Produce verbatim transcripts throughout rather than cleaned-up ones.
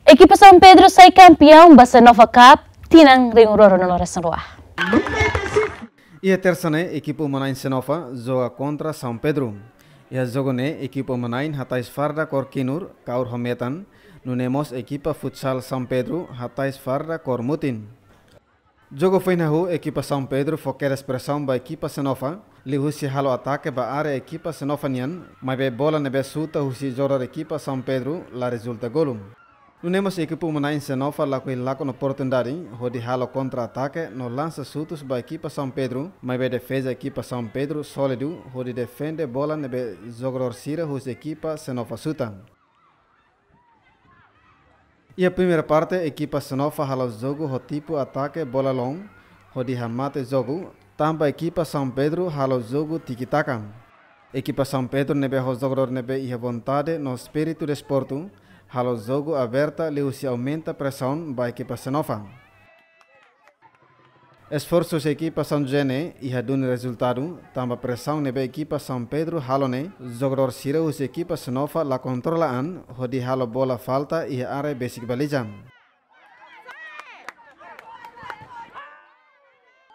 Ekipa São Pedro sai kampeaun ba Senoffa Cup tinan rihun rua ruanulu-resin-rua. Iha tersa ne'e, ekipa uma-na'in Senoffa joga kontra São Pedro. Iha jogu ne'e, ekipa uma-na'in hatais farda kór kinur, kaur ho metan, nune'e mós ekipa futsal São Pedro hatais farda kór mutin. Jogu foin hahú, ekipa São Pedro fó kedas presaun ba ekipa Senoffa, liuhusi halo atake ba área ekipa Senoffa nian, maibé bola ne'ebé xuta husi jogadór ekipa São Pedro la rezulta golu. Nune'e mós ekipa uma-na'in Senoffa lakohi lakon oportunidade hodi halo kontra-atake no lansa xutus ba ekipa São Pedro, maibé defeza ekipa São Pedro sólidu hodi defende bola ne'ebé jogadór sira husi ekipa Senoffa xuta. Iha primeira parte, ekipa Senoffa halo jogu ho tipu atake bola loon, hodi hamate jogu, tanba ekipa São Pedro halo jogu tiki-taka. Ekipa São Pedro ne'ebé ho jogadór ne'ebé iha vontade no espíritu desportu, halo jogu aberta liuhusi aumenta presaun ba ekipa Senoffa. Esforsu husi ekipa São José ne'e iha duni rezultadu, tanba presaun ne'ebé ekipa São Pedro halo ne'e, jogadór sira husi ekipa Senoffa la kontrola an, hodi halo bola falta iha área besik baliza.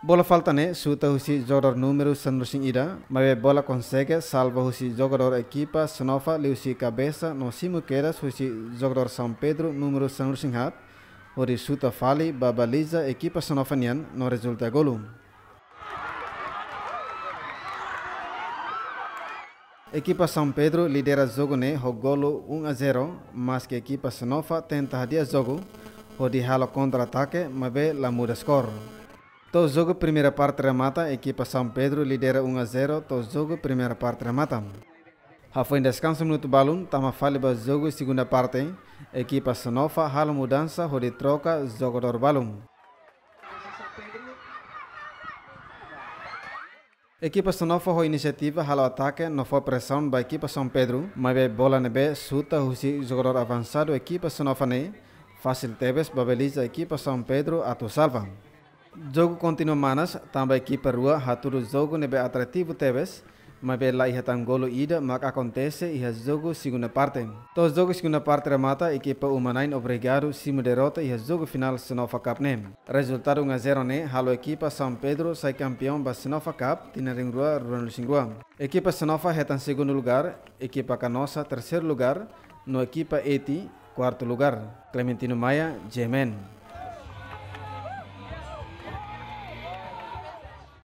Bola falta ne'e xuta husi jogadór númeru sanulu-resin-ida, maibé bola konsege salva husi jogadór ekipa Senoffa liuhusi kabesa no simu kedas husi jogadór São Pedro númeru sanulu-resin-haat, hodi xuta fali ba baliza ekipa Senoffa nian no rezulta golu. Ekipa São Pedro lidera jogu ne'e ho golu um a zero, maske ekipa Senoffa tenta hadi'a jogu, hodi halo kontra-atake, maibé la muda skor. To'o jogu primeira parte remata, ekipa São Pedro lidera um a zero, to'o jogu primeira parte remata. Hafoin deskansa minutu balun, tama fali ba jogu segunda parte, ekipa Senoffa halo mudansa hodi troka jogadór balun. Ekipa Senoffa ho inisiativa halo atake no fó presaun ba ekipa São Pedro, maibé bola ne'ebé xuta husi jogadór avansadu ekipa Senoffa ne'e, fasil tebes ba baliza ekipa São Pedro atu salva. Jogu kontinua manas, tanba ekipa rua hatudu jogu ne'ebé atrativu tebes, maibé la iha tan golu ida mak akontese iha jogu segunda parte. To'o jogu segunda parte remata, ekipa uma-na'in obrigadu simu derrota iha jogu finál Senoffa Cup ne'e. Rezultadu um a zero ne'e halo ekipa São Pedro sai kampeaun ba Senoffa Cup tinan rihun rua ruanulu-resin-rua. Ekipa Senoffa hetan segundu lugar, ekipa Canossa terseiru lugar, no ekipa Eti kuartu lugar. Clementino Maia, G M N.